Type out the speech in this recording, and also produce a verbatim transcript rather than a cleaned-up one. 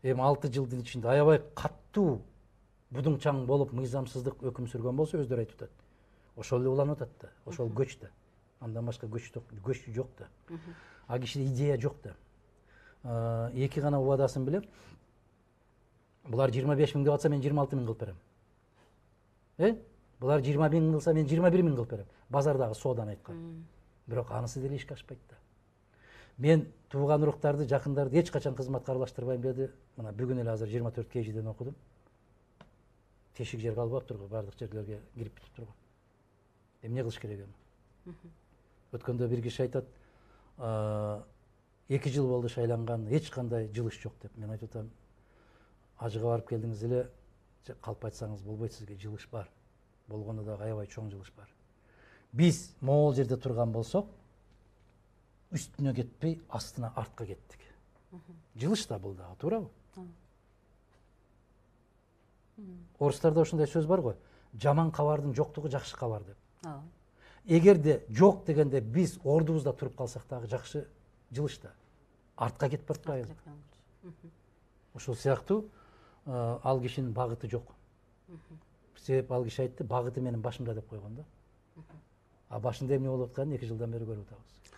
эми алты жылдын ичинде аябай каттуу будуңчаң болуп мыйзамсыздык өкүм сүргөн болсо өздөрү айтып атат. Ошол эле уланып атат да. Ошол көч да. Андан башка көч көч жок да. А кишиде идея жок да. Эки гана убадасын билем. Булар жыйырма беш миң деп атса мен жыйырма алты миң кылып берем. Э? Булар жыйырма миң кылса мен жыйырма бир миң кылып берем. Базардагы соодан айткан. Бирок анысы деле ишке ашпайт да. Мен тууган уруктарды, жакындарды эч качан кызматка аралаштырбайм деди. Мына бүгүн эле азыр жыйырма төрт кежиден окудум. Тешик жер калбаптыр го, бардык жерлерге кирип бүтүптүр го. Эмне кылыш керек эми? Өткөндө бир киши айтат, эки жыл болду шайланган, эч кандай жылыш жок деп. Мен айтып атам, ажыга барып келдиңиз эле, калп айтсаңыз болбойт, сизге жылыш бар. Болгондо да аябай чоң жылыш бар. Биз могул жерде турган болсок, үстүнө кетпей, астына артка кеттик. Жылыш да бул дагы, туурабы? Орустарда ошондой сөз бар го, жаман кабардын жоктугу жакшы кабар деп. Эгерде жок дегенде биз ордубузда туруп калсак дагы жакшы жылыш да. Артка кетип баратпайбы? Ошол сыяктуу ал кишинин багыты жок. Себеп ал киши айтты, багыты менин башымда деп койгон да. А башында эмне болуп атканын эки жылдан бери көрүп атабыз.